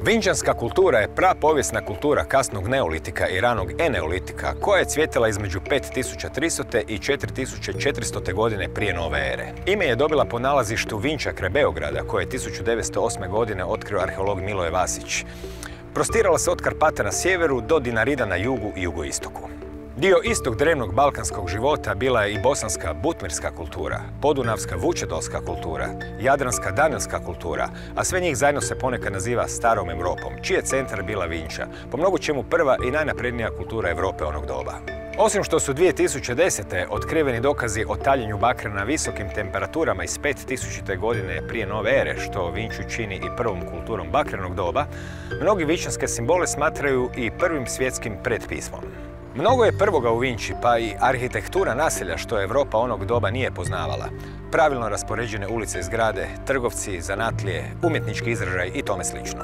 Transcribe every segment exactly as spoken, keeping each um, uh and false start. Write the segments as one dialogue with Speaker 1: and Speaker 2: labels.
Speaker 1: Vinčanska kultura je prapovijesna kultura kasnog neolitika i ranog eneolitika koja je cvjetala između pet tisuća tristo. i četiri tisuće četiristo. godine prije nove ere. Ime je dobila po nalazištu Vinča kraj Beograda koje je tisuću devetsto osme. godine otkrio arheolog Miloje Vasić. Prostirala se od Karpata na sjeveru do Dinarida na jugu i jugoistoku. Dio istog drevnog balkanskog života bila je i bosanska butmirska kultura, podunavska vučedolska kultura, jadranska danilska kultura, a sve njih zajedno se ponekad naziva Starom Europom, čiji je centar bila Vinča, po mnogo čemu prva i najnaprednija kultura Europe onog doba. Osim što su dvije tisuće desete. otkriveni dokazi o taljenju bakra na visokim temperaturama iz pet tisuće. godine prije nove ere, što Vinču čini i prvom kulturom bakrenog doba, mnogi vinčanske simbole smatraju i prvim svjetskim pretpismom. Mnogo je prvoga u Vinči, pa i arhitektura naselja što Europa onog doba nije poznavala. Pravilno raspoređene ulice i zgrade, trgovci, zanatlije, umjetnički izražaj i tome slično.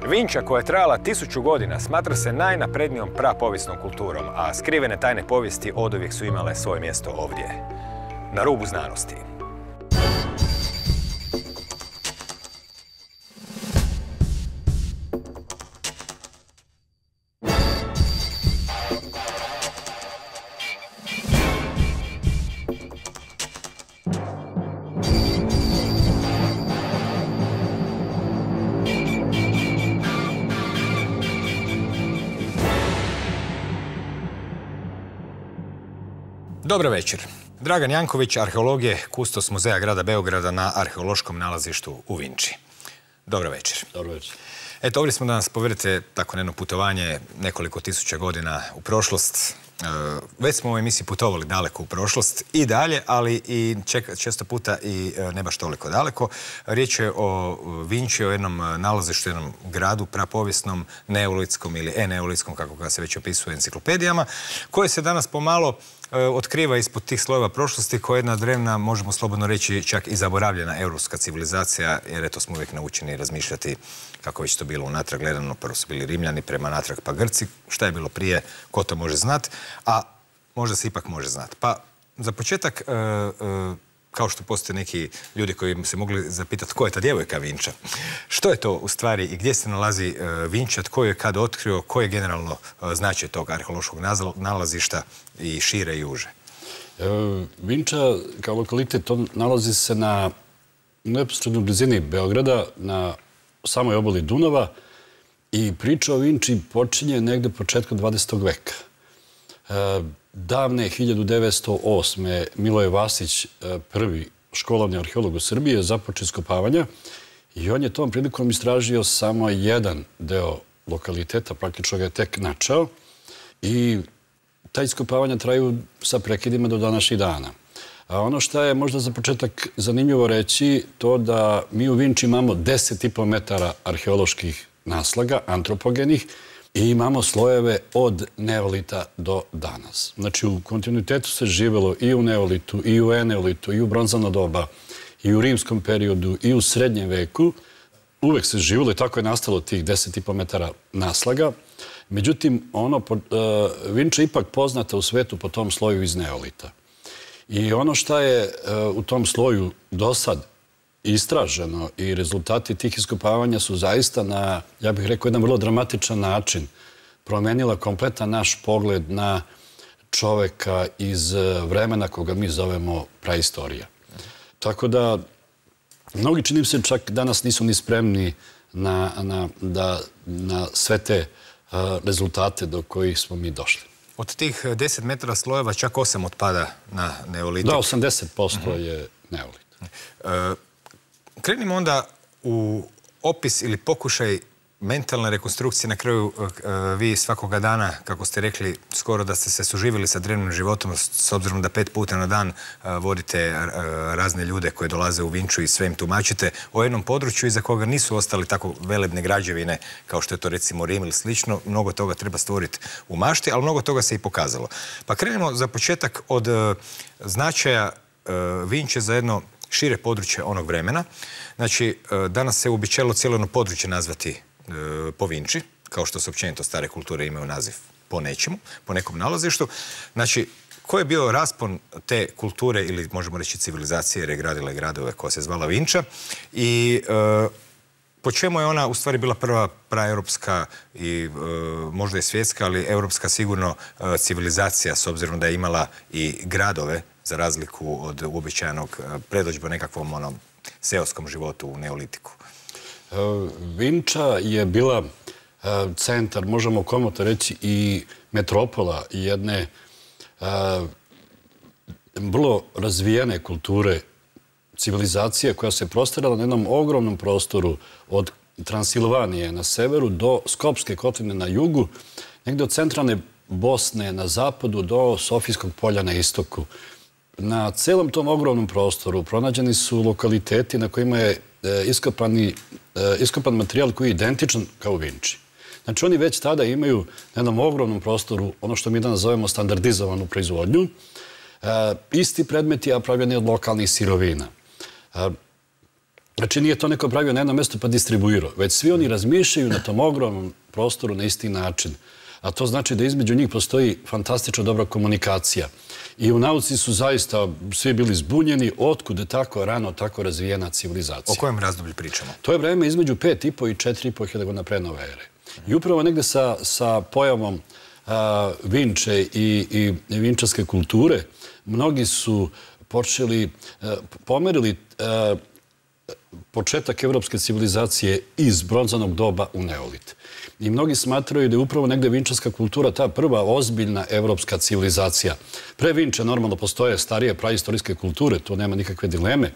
Speaker 1: Vinča koja je trajala tisuću godina smatra se najnaprednijom prapovijesnom kulturom, a skrivene tajne povijesti oduvijek su imale svoje mjesto ovdje, na rubu znanosti. Dobar večer. Dragan Janković, arheolog je kustos Muzeja grada Beograda na arheološkom nalazištu u Vinči. Dobar večer.
Speaker 2: Dobar večer.
Speaker 1: Eto, ovdje smo da nas povedete tako jedno putovanje nekoliko tisuća godina u prošlost. Već smo u ovoj emisiji putovali daleko u prošlost i dalje, ali i često puta i ne baš toliko daleko. Riječ je o Vinči, o jednom nalazištu, jednom gradu prapovijesnom, neolitskom ili eneolitskom, kako ga se već opisuje u enciklopedijama, koje se danas pomalo otkriva ispod tih slojeva prošlosti, koja je jedna drevna, možemo slobodno reći, čak i zaboravljena europska civilizacija, jer eto smo uvijek naučeni razmišljati kako već to bilo unatrag gledano. Prvo su bili Rimljani, prema natrag pa Grci. Šta je bilo prije, ko to može znat, a možda se ipak može znat. Pa za početak, kao što postoje neki ljudi koji se mogli zapitati ko je ta djevojka Vinča, što je to u stvari i gdje se nalazi Vinča, tko je kad otkrio, koji je generalno značaj tog arheološkog nalazišta i šire i uže?
Speaker 2: Vinča kao lokalitet nalazi se na neposrednoj blizini Beograda, na samoj obali Dunava, i priča o Vinči počinje negde početkom dvadesetog veka. Davne hiljadu devetsto osme. Miloje Vasić, prvi školovni arheolog u Srbiji, započeo iskopavanja i on je tom prilikom istražio samo jedan deo lokaliteta, praktično ga je tek načao, i ta iskopavanja traju sa prekidima do današnjih dana. A ono što je možda za početak zanimljivo reći, to da mi u Vinči imamo deset i po metara arheoloških naslaga, antropogenih, i imamo slojeve od neolita do danas. Znači, u kontinuitetu se živelo i u neolitu, i u eneolitu, i u bronzano doba, i u rimskom periodu, i u srednjem veku. Uvek se živelo i tako je nastalo tih deset i po metara naslaga. Međutim, Vinča je ipak poznata u svetu po tom sloju iz neolita. I ono što je u tom sloju do sad istraženo i rezultati tih iskopavanja su zaista na, ja bih rekao, jedan vrlo dramatičan način promenila kompletan naš pogled na čoveka iz vremena koga mi zovemo praistorija. Tako da, mnogi, čini se, čak danas nisu ni spremni na sve te rezultate do kojih smo mi došli.
Speaker 1: Od tih deset metara slojeva čak osam otpada na neolitik.
Speaker 2: Da, osamdeset posto je neolit.
Speaker 1: Krenimo onda u opis ili pokušaj mentalne rekonstrukcije. Na kraju vi svakoga dana, kako ste rekli, skoro da ste se suživjeli sa drevnim životom, s obzirom da pet puta na dan vodite razne ljude koje dolaze u Vinču i sve im tumačite o jednom području iza koga nisu ostali tako velebne građevine kao što je to recimo Rim ili slično. Mnogo toga treba stvoriti u mašti, ali mnogo toga se i pokazalo. Pa krenimo za početak od značaja Vinče za jedno šire područje onog vremena. Znači, danas se uobičajilo cijelo jedno područje nazvati po Vinči, kao što se općenito stare kulture imaju naziv po nečemu, po nekom nalazištu. Znači, koji je bio raspon te kulture ili možemo reći civilizacije, jer je gradila i gradove koja se zvala Vinča, i Po čemu je ona u stvari bila prva praeuropska i možda i svjetska, ali europska sigurno civilizacija, s obzirom da je imala i gradove, za razliku od uobičajenog predodžbe nekakvom onom seoskom životu u neolitiku?
Speaker 2: Vinča je bila centar, možemo komotno reći, i metropola jedne vrlo razvijene kulture, civilizacije koja se prostirala na jednom ogromnom prostoru od Transilvanije na severu do Skopske kotline na jugu, negdje od centralne Bosne na zapadu do Sofijskog polja na istoku. Na celom tom ogromnom prostoru pronađeni su lokaliteti na kojima je iskopan materijal koji je identičan kao u Vinči. Znači, oni već tada imaju na jednom ogromnom prostoru ono što mi danas zovemo standardizovanu proizvodnju, isti predmeti, a pravljeni od lokalnih sirovina. Znači, nije to neko pravio na jednom mjestu pa distribuirao, već svi oni razmišljaju na tom ogromnom prostoru na isti način. A to znači da između njih postoji fantastično dobra komunikacija. I u nauci su zaista svi bili zbunjeni otkud je tako rano, tako razvijena civilizacija.
Speaker 1: O kojem razdoblju pričamo?
Speaker 2: To je vreme između pet i po i četiri i po hiljada godina pre nove ere. I upravo negde sa pojavom Vinče i vinčarske kulture mnogi su počeli, pomerili početak evropske civilizacije iz bronzanog doba u neolit. I mnogi smatraju da je upravo negde vinčarska kultura ta prva ozbiljna evropska civilizacija. Pre Vinče normalno postoje starije praistorijske kulture, tu nema nikakve dileme.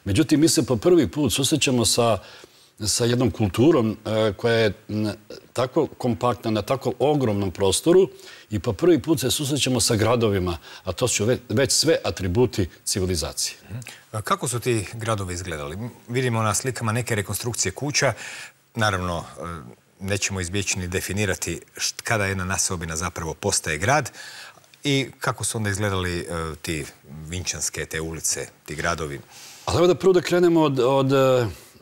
Speaker 2: Međutim, mi se po prvi put susrećemo sa sa jednom kulturom koja je tako kompaktna, na tako ogromnom prostoru i po prvi put se susrećemo sa gradovima, a to su već sve atributi civilizacije.
Speaker 1: Kako su ti gradovi izgledali? Vidimo na slikama neke rekonstrukcije kuća. Naravno, nećemo izbjeći ni definirati kada jedna naseobina zapravo postaje grad i kako su onda izgledali ti vinčanske, te ulice, ti gradovi.
Speaker 2: Ali evo da prvo da krenemo od... od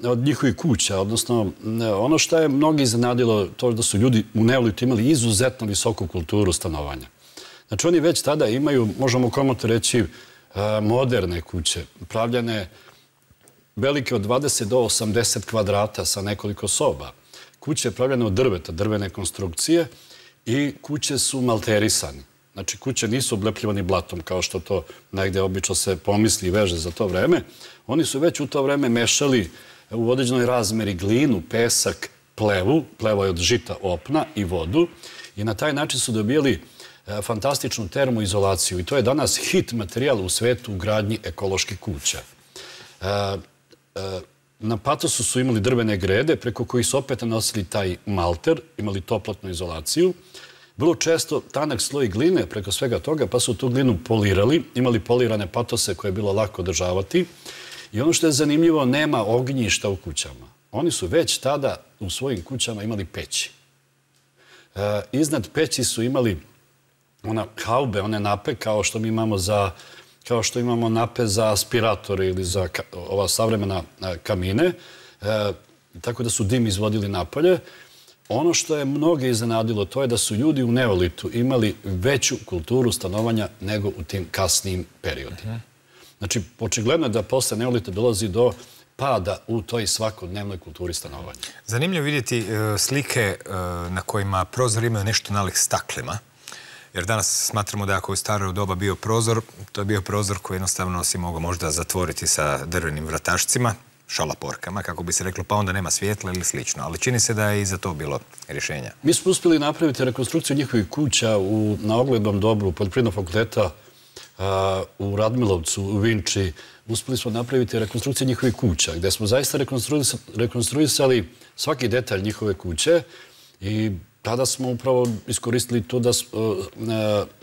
Speaker 2: od njihovih kuća, odnosno ono što je mnogi iznenadilo, to da su ljudi u neolitu imali izuzetno visoku kulturu stanovanja. Znači oni već tada imaju, možemo komotno reći, moderne kuće, pravljene velike od dvadeset do osamdeset kvadrata sa nekoliko soba. Kuće pravljene od drveta, drvene konstrukcije i kuće su malterisane. Znači kuće nisu oblepljivani blatom kao što to negde obično se pomisli i veže za to vreme. Oni su već u to vreme mešali u određenoj razmeri glinu, pesak, plevu, pleva je od žita, opna i vodu i na taj način su dobijali fantastičnu termoizolaciju i to je danas hit materijal u svetu u gradnji ekoloških kuća. Na patosu su imali drvene grede preko kojih su opet nanosili taj malter, imali toplotnu izolaciju. Vrlo često tanak sloj gline preko svega toga pa su tu glinu polirali, imali polirane patose koje je bilo lako održavati. I ono što je zanimljivo, nema ognjišta u kućama. Oni su već tada u svojim kućama imali peći. Iznad peći su imali ona haube, one nape, kao što mi imamo za, kao što imamo nape za aspiratore ili za ova savremena kamine, tako da su dim izvodili napolje. Ono što je mnoge iznenadilo, to je da su ljudi u neolitu imali veću kulturu stanovanja nego u tim kasnijim periodima. Znači, očigledno je da posle neolita dolazi do pada u toj svakodnevnoj kulturi stanovanja.
Speaker 1: Zanimljivo vidjeti slike na kojima prozor imaju nešto nalik staklima. Jer danas smatramo da ako je u staro doba bio prozor, to je bio prozor koji jednostavno si mogao možda zatvoriti sa drvenim vratašcima, šalaporkama, kako bi se reklo, pa onda nema svjetla ili slično. Ali čini se da je i za to bilo rješenja.
Speaker 2: Mi smo uspjeli napraviti rekonstrukciju njihovih kuća na oglednom dobru Poljoprivrednog fakulteta u Radmilovcu, u Vinči. Uspjeli smo napraviti rekonstrukciju njihovih kuća, gdje smo zaista rekonstruisali svaki detalj njihove kuće i tada smo upravo iskoristili to da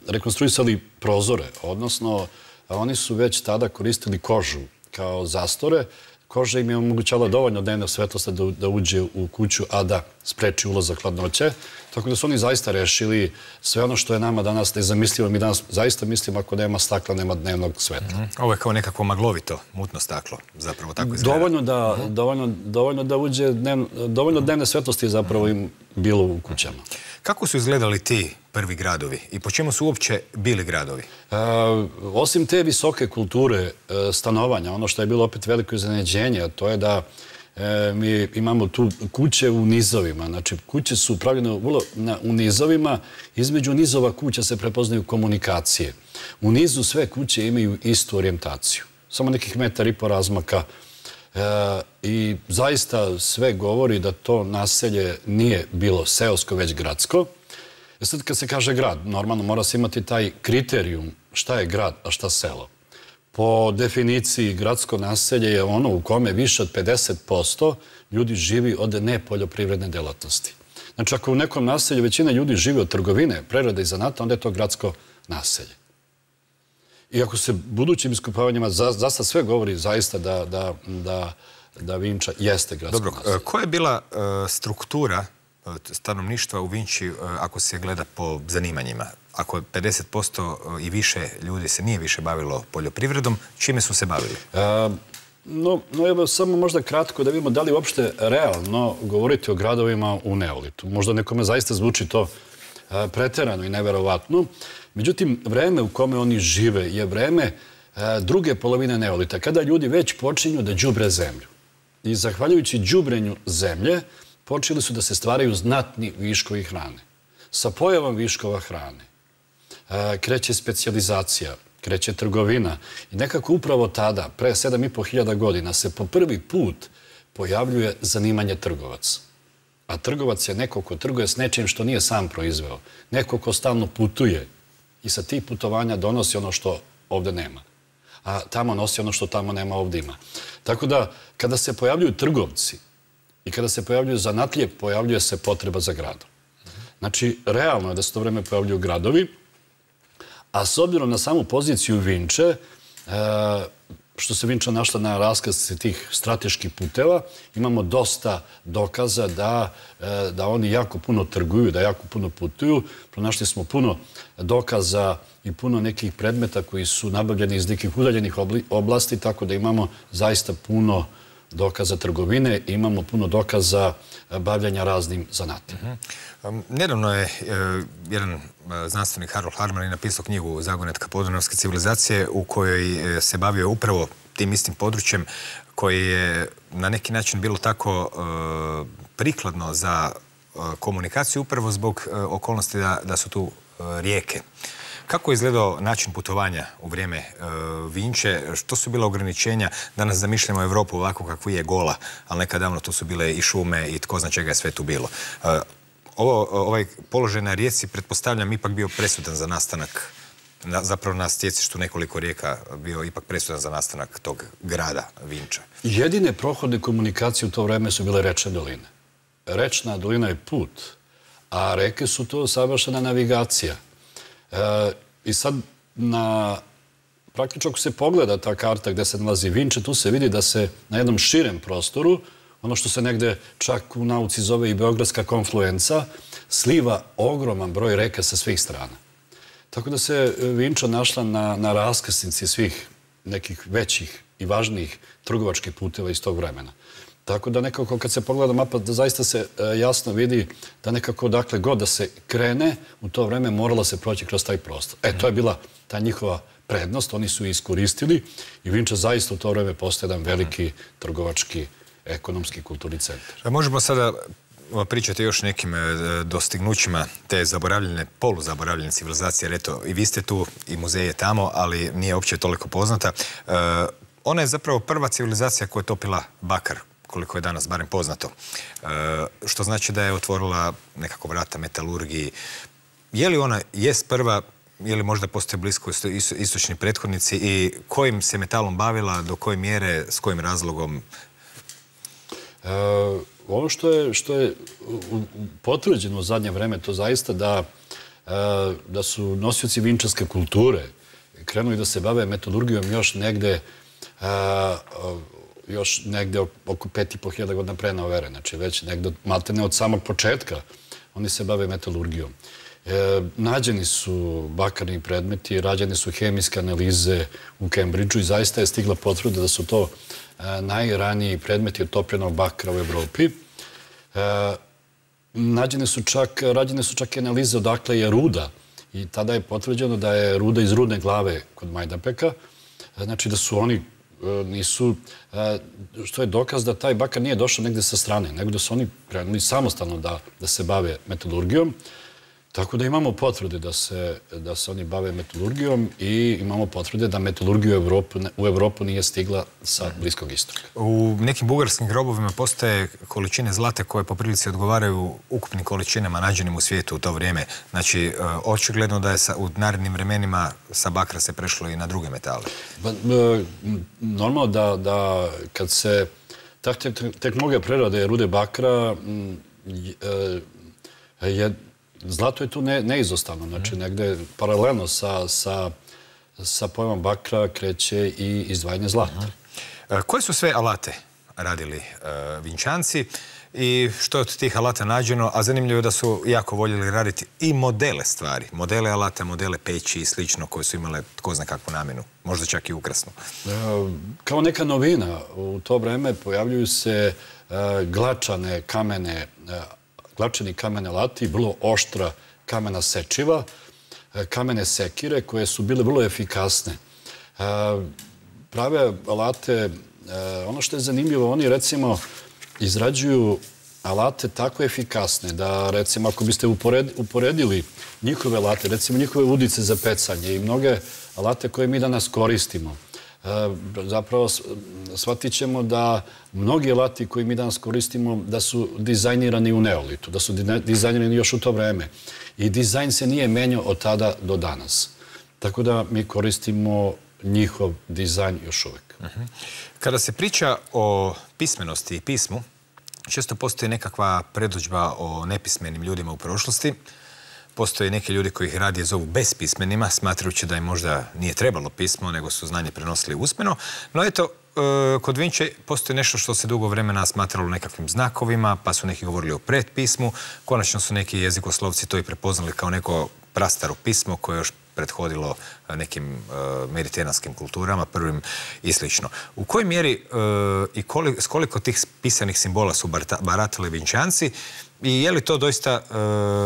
Speaker 2: rekonstruisali prozore, odnosno oni su već tada koristili kožu kao zastore. Koža im je omogućala dovoljno dnevne svetlosti da uđe u kuću, a da spreči ulazak hladnoće. Tako da su oni zaista rešili sve ono što je nama danas nezamislivo. Mi danas zaista mislimo ako nema stakla, nema dnevnog svetla.
Speaker 1: Ovo je kao nekako maglovito, mutno staklo, zapravo tako izgleda.
Speaker 2: Dovoljno da uđe, dovoljno dnevne svetlosti je zapravo im bilo u kućama.
Speaker 1: Kako su izgledali ti prvi gradovi i po čemu su uopće bili gradovi?
Speaker 2: Osim te visoke kulture stanovanja, ono što je bilo opet veliko iznenađenje, to je da mi imamo tu kuće u nizovima. Znači, kuće su pravljene u nizovima. Između nizova kuća se prepoznaju komunikacije. U nizu sve kuće imaju istu orijentaciju. Samo nekih metar i po razmaka. I zaista sve govori da to naselje nije bilo seosko, već gradsko. Sad kad se kaže grad, normalno mora se imati taj kriterijum šta je grad, a šta selo. Po definiciji, gradsko naselje je ono u kome više od pedeset posto ljudi živi od nepoljoprivredne delatnosti. Znači, ako u nekom naselju većina ljudi živi od trgovine, prerade i zanata, onda je to gradsko naselje. I ako se budućim iskopavanjima zaista sve govori zaista da Vinča jeste gradsko naselje.
Speaker 1: Dobro, koja je bila struktura stanovništva u Vinči ako se gleda po zanimanjima? Ako pedeset posto i više ljudi se nije više bavilo poljoprivredom, čime su se bavili?
Speaker 2: No, evo samo možda kratko da vidimo da li uopšte realno govoriti o gradovima u neolitu. Možda nekome zaista zvuči to preterano i neverovatno. Međutim, vreme u kome oni žive je vreme druge polovine neolita, kada ljudi već počinju da đubre zemlju. I zahvaljujući đubrenju zemlje, počeli su da se stvaraju znatni viškovi hrane. Sa pojavom viškova hrane kreće specijalizacija, kreće trgovina i nekako upravo tada, pre sedam i po hiljada godina, se po prvi put pojavljuje zanimanje trgovac. A trgovac je neko ko trguje s nečim što nije sam proizveo. Neko ko stalno putuje i sa tih putovanja donosi ono što ovde nema. A tamo nosi ono što tamo nema, ovde ima. Tako da, kada se pojavljuju trgovci i kada se pojavljuju zanatlije, pojavljuje se potreba za gradom. Znači, realno je da se to vreme pojavljuju gradovi, a s obzirom na samu poziciju Vinče, što se Vinča našla na raskrsnici tih strateških puteva, imamo dosta dokaza da oni jako puno trguju, da jako puno putuju. Pronašli smo puno dokaza i puno nekih predmeta koji su nabavljeni iz nekih udaljenih oblasti, tako da imamo zaista puno dokaza trgovine i imamo puno dokaza bavljanja raznim zanatima.
Speaker 1: Nedavno je jedan znanstvenik Harold Harman napisao knjigu Zagonetka podunavske civilizacije u kojoj se bavio upravo tim istim područjem koje je na neki način bilo tako prikladno za komunikaciju upravo zbog okolnosti da su tu rijeke. Kako je izgledao način putovanja u vrijeme Vinče? Što su bila ograničenja? Danas zamišljamo Evropu ovako kakvu je gola, ali nekad davno tu su bile i šume i tko zna čega je sve tu bilo. Ovaj položaj na rijeci, pretpostavljam, ipak bio presudan za nastanak, zapravo na stjecištu nekoliko rijeka bio ipak presudan za nastanak tog grada Vinča.
Speaker 2: Jedine prohodne komunikacije u to vreme su bile rečne doline. Rečna dolina je put, a reke su to savršena navigacija. I sad, praktično ako se pogleda ta karta gde se nalazi Vinča, tu se vidi da se na jednom širem prostoru, ono što se negde čak u nauci zove i Beogradska konfluenca, sliva ogroman broj reka sa svih strana. Tako da se Vinča našla na raskrsnici svih nekih većih i važnijih trgovačkih puteva iz tog vremena. Tako da nekako kad se pogleda mapa, da zaista se jasno vidi da nekako dakle god da se krene, u to vreme morala se proći kroz taj prostor. E, to je bila ta njihova prednost, oni su iskoristili i Vinča zaista u to vreme postaje jedan veliki trgovački, ekonomski, kulturni centar.
Speaker 1: Možemo sada pričati još nekim dostignućima te zaboravljene, poluzaboravljene civilizacije, jer eto, i vi ste tu, i muzej je tamo, ali nije uopće toliko poznata. Ona je zapravo prva civilizacija koja je topila bakar, koliko je danas barem poznato. Što znači da je otvorila nekako vrata metalurgiji. Je li ona jest prva, je li možda postoje blisko istočni prethodnici i kojim se metalom bavila, do koje mjere, s kojim razlogom?
Speaker 2: Ono što je potvrđeno u zadnje vreme, to zaista da su nosioci vinčarske kulture krenuli da se bave metalurgijom još negde još negde oko pet i po hiljada godina pre nove ere. Znači već negde maltene od samog početka oni se bave metalurgijom. Nađeni su bakarni predmeti, rađene su hemijske analize u Cambridgeu i zaista je stigla potvrda da su to najraniji predmeti od topljenog bakra u Evropi. Rađene su čak i analize odakle je ruda i tada je potvrđeno da je ruda iz Rudne glave kod Majdanpeka. Znači da su oni nisu, što je dokaz da taj bakar nije došao negde sa strane, nego da su oni krenuli samostalno da se bave metalurgijom. Tako da imamo potvrde da se oni bave metalurgijom i imamo potvrde da metalurgija u Evropu nije stigla sa Bliskog istoka.
Speaker 1: U nekim bugarskim grobovima postoje količine zlata koje po prilici odgovaraju ukupnim količinama nađenim u svijetu u to vrijeme. Znači, očigledno da je u narednim vremenima sa bakra se prešlo i na druge metale.
Speaker 2: Normalno da kad se tehnologija prerade rude bakra je zlato je tu neizostavno, znači negde paralelno sa pojmom bakra kreće i izdvajanje zlata.
Speaker 1: Koje su sve alate radili Vinčanci i što je od tih alata nađeno? A zanimljivo je da su jako voljeli raditi i modele stvari, modele alata, modele peći i slično koje su imale tko zna kakvu namjenu, možda čak i ukrasnu.
Speaker 2: Kao neka novina u to vreme pojavljuju se glačane kamene glačani kamene alati, vrlo oštra kamena sečiva, kamene sekire koje su bile vrlo efikasne. Prave alate, ono što je zanimljivo, oni recimo izrađuju alate tako efikasne da recimo ako biste uporedili njihove alate, recimo njihove udice za pecanje i mnoge alate koje mi danas koristimo, zapravo shvatit ćemo da mnogi alati koji mi danas koristimo da su dizajnirani u neolitu, da su dizajnirani još u to vreme. I dizajn se nije menjao od tada do danas. Tako da mi koristimo njihov dizajn još uvek.
Speaker 1: Kada se priča o pismenosti i pismu, često postoji nekakva predodžba o nepismenim ljudima u prošlosti. Postoje neki ljudi koji ih radije zovu bespismenima, smatrajući da im možda nije trebalo pismo, nego su znanje prenosili usmeno. No eto, kod Vinče postoji nešto što se dugo vremena smatralo nekakvim znakovima, pa su neki govorili o predpismu. Konačno su neki jezikoslovci to i prepoznali kao neko prastaro pismo koje je još prethodilo nekim mediteranskim kulturama, prvim i slično. U kojoj mjeri i s koliko tih pisanih simbola su baratali Vinčanci i je li to doista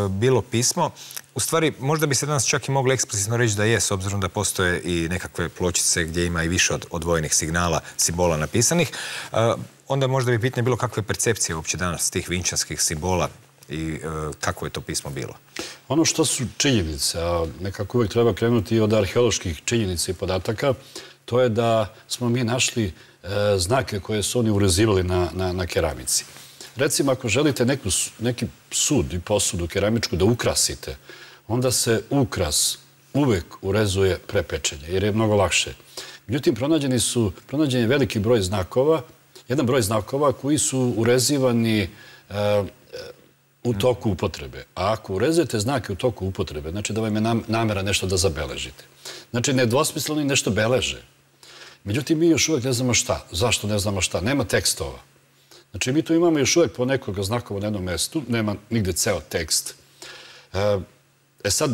Speaker 1: bilo pismo? U stvari, možda bi se danas čak i moglo eksplicitno reći da je, s obzirom da postoje i nekakve pločice gdje ima i više od odvojenih signala, simbola napisanih. Onda možda bi pitanje bilo kakve percepcije uopće danas tih vinčanskih simbola i kako je to pismo bilo?
Speaker 2: Ono što su činjenice, a nekako uvijek treba krenuti od arheoloških činjenica i podataka, to je da smo mi našli znake koje su oni urezivali na keramici. Recimo, ako želite neki sud i posudu keramičku da ukrasite, onda se ukras uvek urezuje pre pečenja, jer je mnogo lakše. Međutim, pronađeni su, pronađen je veliki broj znakova, jedan broj znakova koji su urezivani u toku upotrebe. A ako urezujete znake u toku upotrebe, znači da vam je namera nešto da zabeležite. Znači, nedvosmisleno nešto beleže. Međutim, mi još uvek ne znamo šta. Zašto ne znamo šta? Nema tekstova. Znači, mi tu imamo još uvek po nekoga znakova na jednom mestu, nema nigde ceo tekst. E sad,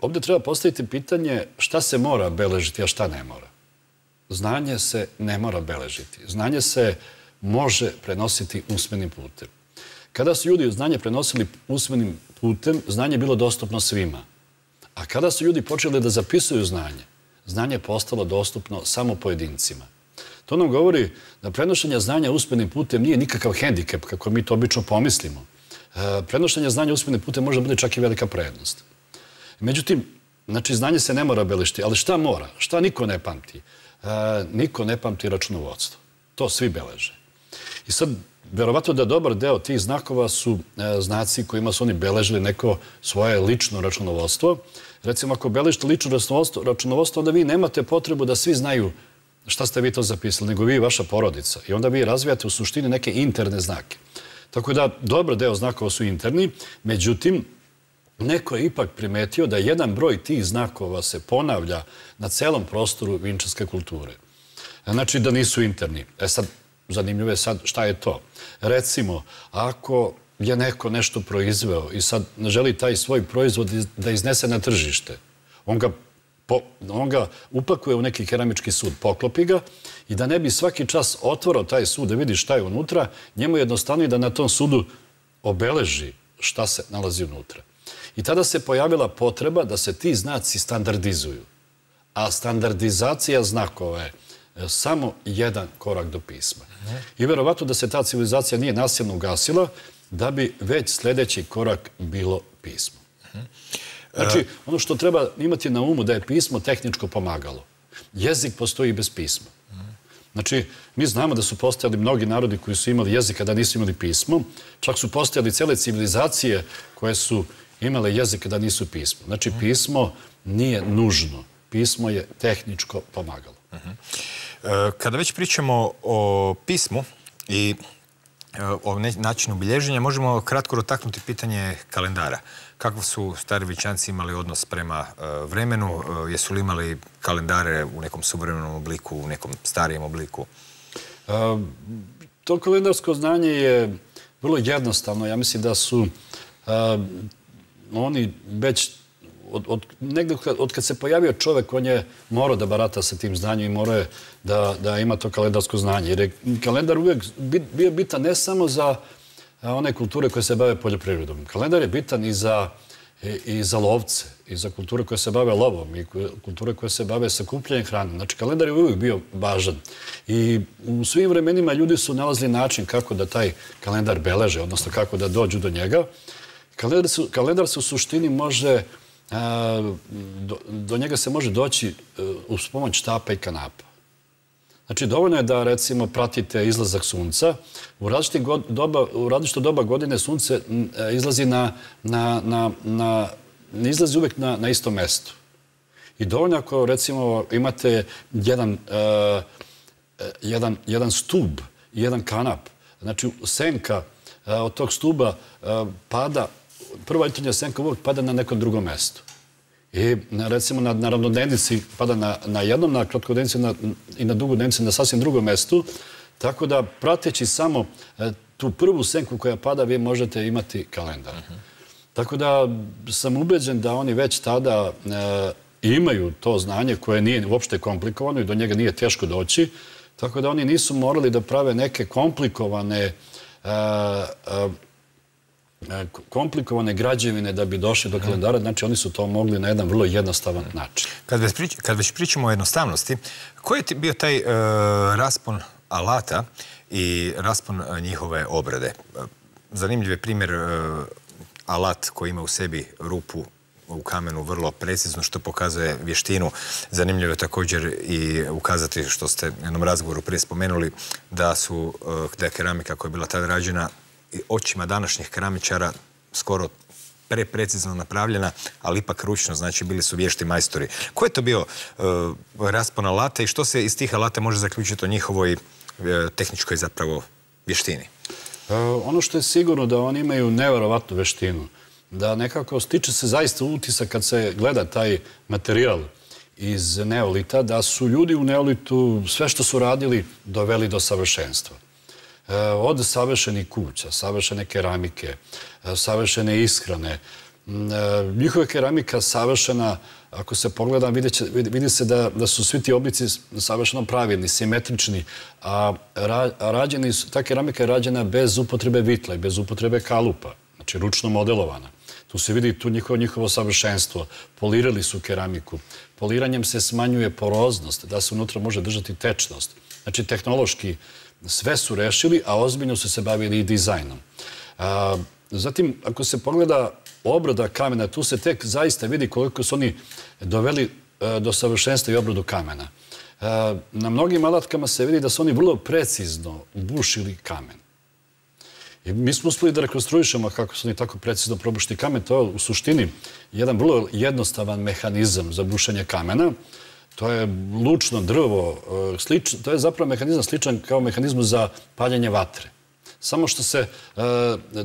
Speaker 2: ovdje treba postaviti pitanje šta se mora beležiti, a šta ne mora. Znanje se ne mora beležiti. Znanje se može prenositi usmenim putem. Kada su ljudi znanje prenosili usmenim putem, znanje je bilo dostupno svima. A kada su ljudi počeli da zapisuju znanje, znanje je postalo dostupno samo pojedincima. To nam govori da prenošenje znanja usmenim putem nije nikakav hendikep, kako mi to obično pomislimo. Prenošenje znanja usmenim putem može biti čak i velika prednost. Međutim, znači, znanje se ne mora beležiti, ali šta mora? Šta niko ne pamti? Niko ne pamti računovodstvo. To svi beleže. I sad, verovatno da dobar deo tih znakova su znaci kojima su oni beležili neko svoje lično računovodstvo. Recimo, ako beležite lično računovodstvo, onda vi nemate potrebu da svi znaju šta ste vi to zapisali, nego vi i vaša porodica. I onda vi razvijate u suštini neke interne znake. Tako da, dobar deo znakova su interni, međutim, neko je ipak primetio da jedan broj tih znakova se ponavlja na celom prostoru vinčanske kulture. Znači da nisu interni. E sad, zanimljivo je sad šta je to. Recimo, ako je neko nešto proizveo i sad želi taj svoj proizvod da iznese na tržište, on ga on ga upakuje u neki keramički sud, poklopi ga i da ne bi svaki čas otvorao taj sud da vidi šta je unutra, njemu je jednostavnije da na tom sudu obeleži šta se nalazi unutra. I tada se pojavila potreba da se ti znaci standardizuju. A standardizacija znakova je samo jedan korak do pisma. I verovatno da se ta civilizacija nije nasilno ugasila, da bi već sljedeći korak bilo pismo. Znači, ono što treba imati na umu da je pismo tehničko pomagalo. Jezik postoji bez pisma. Znači, mi znamo da su postojali mnogi narodi koji su imali jezik, a da nisu imali pismo. Čak su postojali cele civilizacije koje su imale jezik, a da nisu pismo. Znači, pismo nije nužno. Pismo je tehničko pomagalo.
Speaker 1: Kada već pričamo o pismu i o načinu bilježenja, možemo kratko dotaknuti pitanje kalendara. Kako su stari Vičanci imali odnos prema vremenu? Jesu li imali kalendare u nekom suvremenom obliku, u nekom starijem obliku?
Speaker 2: To kalendarsko znanje je vrlo jednostavno. Ja mislim da su oni već negdje od kad se pojavio čovek, on je morao da barata sa tim znanjem i morao je da ima to kalendarsko znanje. Jer je kalendar uvijek bio bitan ne samo za one kulture koje se bave poljoprivredom. Kalendar je bitan i za lovce, i za kulture koje se bave lovom, i kulture koje se bave sakupljanjem hrane. Znači, kalendar je uvijek bio važan. I u svim vremenima ljudi su nalazili način kako da taj kalendar beleže, odnosno kako da dođu do njega. Kalendar se u suštini može, do njega se može doći uz pomoć štapa i kanapa. Znači, dovoljno je da, recimo, pratite izlazak sunca. U različito doba godine sunce izlazi na, ne izlazi uvek na istom mestu. I dovoljno ako, recimo, imate jedan stub i jedan kanap. Znači, senka od tog stuba pada, prva jutarnja senka uvek pada na nekom drugom mestu. I, recimo, na ravnodnevnici pada na jednom, na kratkodnevnici i na dugodnevnici na sasvim drugom mestu. Tako da, prateći samo tu prvu senku koja pada, vi možete imati kalendar. Tako da sam ubeđen da oni već tada imaju to znanje koje nije uopšte komplikovano i do njega nije teško doći. Tako da oni nisu morali da prave neke komplikovane komplikovane građevine da bi došli do kalendara. Znači, oni su to mogli na jedan vrlo jednostavan način.
Speaker 1: Kad već pričamo o jednostavnosti, koji je bio taj raspon alata i raspon njihove obrade? Zanimljiv je primjer alat koji ima u sebi rupu u kamenu vrlo precizno, što pokazuje vještinu. Zanimljivo je također i ukazati, što ste u jednom razgovoru prije spomenuli, da je keramika koja je bila tada rađena očima današnjih keramičara skoro preprecizno napravljena, ali ipak ručno, znači bili su vješti majstori. Ko je to bio raspon alata i što se iz tih alata može zaključiti o njihovoj tehničkoj zapravo vještini?
Speaker 2: Ono što je sigurno da oni imaju neverovatnu veštinu, da nekako stiče se zaista utisak kad se gleda taj materijal iz neolita, da su ljudi u neolitu sve što su radili doveli do savršenstva. Od savršenih kuća, savršene keramike, savršene ishrane. Njihova keramika savršena, ako se pogleda, vidi se da su svi ti oblici savršeno pravilni, simetrični, a ta keramika je rađena bez upotrebe vitla i bez upotrebe kalupa, znači ručno modelovana. Tu se vidi tu njihovo savršenstvo. Polirali su keramiku. Poliranjem se smanjuje poroznost, da se unutra može držati tečnost. Znači, tehnološki sve su rešili, a ozbiljno su se bavili i dizajnom. Zatim, ako se pogleda obrada kamena, tu se tek zaista vidi koliko su oni doveli do savršenstva i obradu kamena. Na mnogim alatkama se vidi da su oni vrlo precizno bušili kamen. I mi smo uspeli da rekonstruišemo kako su oni tako precizno probušili kamen. To je u suštini jedan vrlo jednostavan mehanizam za bušenje kamena. To je lučno drvo, to je zapravo mehanizam sličan kao mehanizmu za paljenje vatre. Samo što se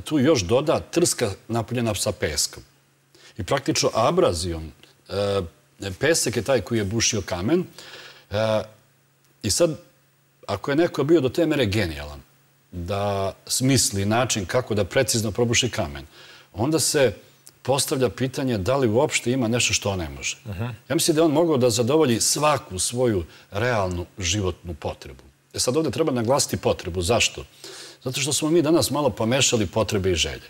Speaker 2: tu još doda trska napunjena sa peskom. I praktično abrazijom, pesak je taj koji je bušio kamen. I sad, ako je neko bio do te mere genijalan da smisli način kako da precizno probuši kamen, onda se postavlja pitanje da li uopšte ima nešto što on ne može. Ja mislim da je on mogao da zadovolji svaku svoju realnu životnu potrebu. E sad ovdje treba naglasiti potrebu. Zašto? Zato što smo mi danas malo pomešali potrebe i želje.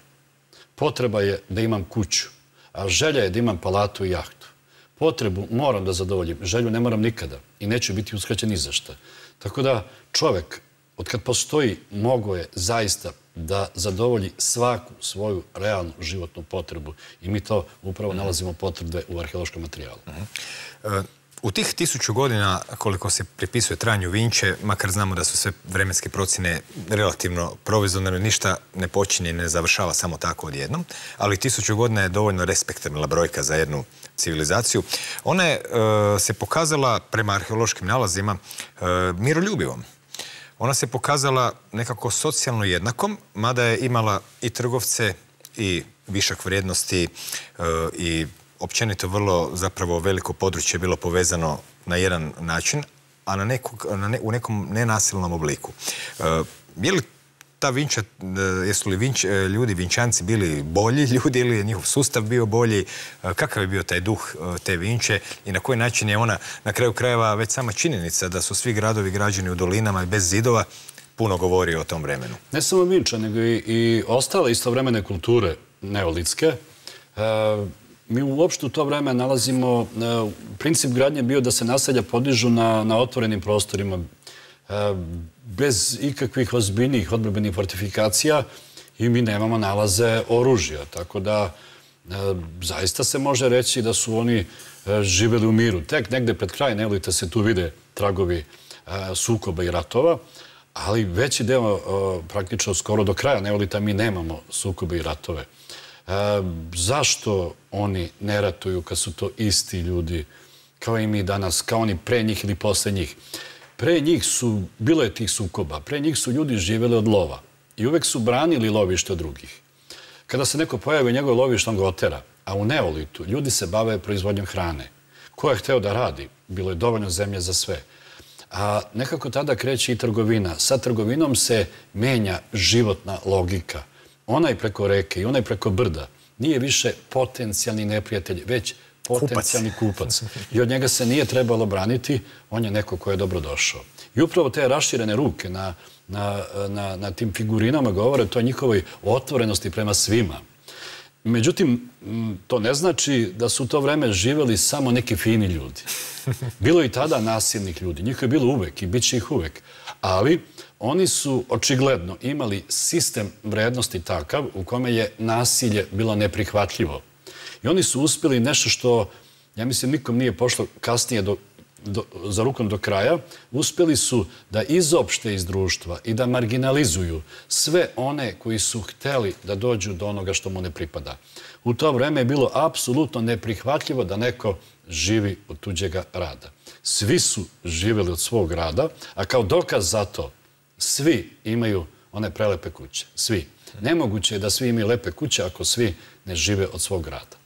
Speaker 2: Potreba je da imam kuću, a želja je da imam palatu i jahtu. Potrebu moram da zadovoljim, želju ne moram nikada. i neće biti uskraćen ni za šta. Tako da čovek, od kad postoji, mogo je zaista da zadovolji svaku svoju realnu životnu potrebu. I mi to upravo nalazimo potvrde u arheološkom materijalu.
Speaker 1: U tih tisuću godina, koliko se pripisuje trajanju Vinče, makar znamo da su sve vremenske procjene relativno provizorne, ništa ne počinje i ne završava samo tako odjednom, ali tisuću godina je dovoljno respektabilna brojka za jednu civilizaciju. Ona je se pokazala prema arheološkim nalazima miroljubivom. Ona se pokazala nekako socijalno jednakom, mada je imala i trgovce i višak vrijednosti i općenito vrlo zapravo veliko područje je bilo povezano na jedan način, a na nekog, na ne, u nekom nenasilnom obliku. Je li ta Vinča, jesu li Vinč, ljudi, Vinčanci bili bolji ljudi ili je njihov sustav bio bolji? Kakav je bio taj duh te Vinče i na koji način je ona, na kraju krajeva, već sama činjenica da su svi gradovi građeni u dolinama i bez zidova, puno govori o tom vremenu?
Speaker 2: Ne samo Vinča, nego i, i ostale istovremene kulture neolitske. E, mi uopšte u to vreme nalazimo, e, princip gradnje bio da se naselja podižu na, na otvorenim prostorima, e, bez ikakvih ozbiljnih odbrambenih fortifikacija i mi nemamo nalaze oružja. Tako da e, zaista se može reći da su oni e, živeli u miru. Tek negde pred kraj neolita se tu vide tragovi e, sukoba i ratova, ali veći deo, praktično skoro do kraja neolita, mi nemamo sukobe i ratove. E, zašto oni ne ratuju kad su to isti ljudi, kao i mi danas, kao oni pre njih ili posle njih? Pre njih su, bilo je tih sukoba, pre njih su ljudi živjeli od lova i uvek su branili lovište od drugih. Kada se neko pojavi u njegove lovište, on ga otera, a u neolitu ljudi se bave proizvodnjom hrane. Ko je hteo da radi? Bilo je dovoljno zemlje za sve. A nekako tada kreće i trgovina. Sa trgovinom se menja životna logika. Onaj preko reke i onaj preko brda nije više potencijalni neprijatelj, već potencijalni kupac. I od njega se nije trebalo braniti, on je neko ko je dobro došao. I upravo te raširene ruke na, na, na, na tim figurinama govore o toj njihovoj otvorenosti prema svima. Međutim, to ne znači da su u to vreme živeli samo neki fini ljudi. Bilo je i tada nasilnih ljudi. Njih je bilo uvek i bit će ih uvek. Ali oni su očigledno imali sistem vrednosti takav u kome je nasilje bilo neprihvatljivo. I oni su uspjeli nešto što, ja mislim, nikom nije pošlo kasnije do, do, za rukom do kraja. Uspjeli su da izopšte iz društva i da marginalizuju sve one koji su hteli da dođu do onoga što mu ne pripada. U to vreme je bilo apsolutno neprihvatljivo da neko živi od tuđega rada. Svi su živjeli od svog rada, a kao dokaz za to svi imaju one prelepe kuće. Svi. Nemoguće je da svi imaju lepe kuće ako svi ne žive od svog rada.